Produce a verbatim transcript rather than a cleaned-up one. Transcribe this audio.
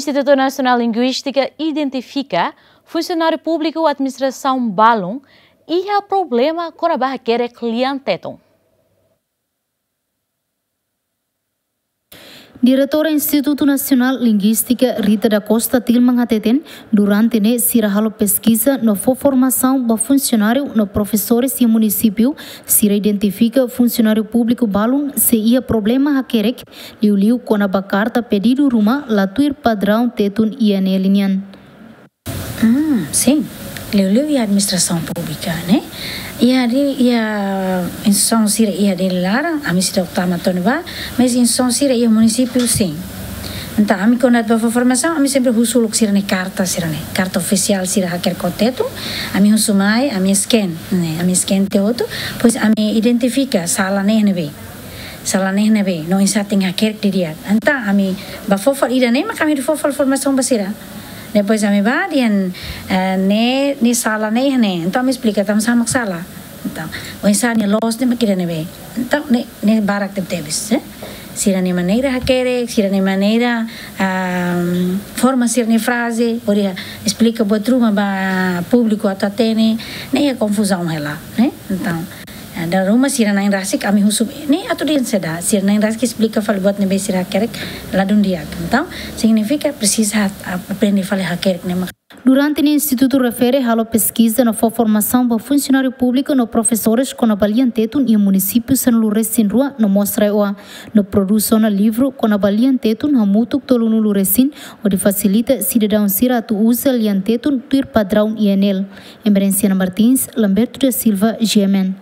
Institutu Nasionál Linguístika identifika funsionáriu públiku administrasaun balun iha problema kona-ba hakerek lian Tetun. Diretora Institutu Nasionál Linguístika, Rita da Costa Tilman, hateten, durante ne'e sira halo peskiza no fó formasaun ba funsionáriu no profesores iha munisípiu, sira identifika funsionáriu públiku balun sei iha problema hakerek, liuliu kona-ba karta pedidu ruma la tuir padraun Tetun I N L nian. Hmm, sin. Liuliu iha administrasaun públika, ne'e? Iha di, iha instituisaun sira iha Dili laran, ami seidauk tama to'o ne'ebá, mas instituisaun sira iha munisípiu, sin. Entaun, ami kuandu atu ba fó formasaun, ami sempre husu uluk sira-nia karta, sira-nia karta ofisiál sira hakerek ho Tetun, ami husu mai, ami scan, ne'e, ami scan tiha hotu, depois ami identifika sala ne'e ne'ebé. Sala ne'e ne'ebé, no oinsá tenke hakerek didi'ak. Entaun, ami ba fó fali ida-ne'e, mak ami fó fali formasaun ba sira. Depois ami ba dehan, eh, ne'e, ne'e sala ne'e, ne'e. Entaun ami esplika tanba sá mak sala. Entaun, oinsá nia loos ne'e mak ida-ne'ebé. Entaun, ne'e, ne'e barak tebetebes, eh. Sira-nia maneira hakerek, sira-nia maneira, ah, forma sira-nia fraze, hodi esplika buat ruma ba públiku atu hatene, ne'e iha konfuzaun hela, ne'e. Entaun, eh, dala ruma sira na'in rasik ami husu, ne'e atu dehan saida, sira na'in rasik esplika fali buat ne'ebé sira hakerek ladún di'ak. Entaun, signifika presiza ha-, aprende fali hakerek ne'e mak. Durante ne'e institutu refere halo peskiza no fó formasaun ba funsionáriu públiku no profesores kona-ba lian Tetun iha munisípiu sanulu-resin-rua no mós RAEOA, no produsaun livru kona-ba lian Tetun hamutuk tolunulu-resin, hodi fasilita sidadaun sira atu uza lian Tetun tuir padraun I N L. Emerenciana Martins, Lamberto da Silva, G M N.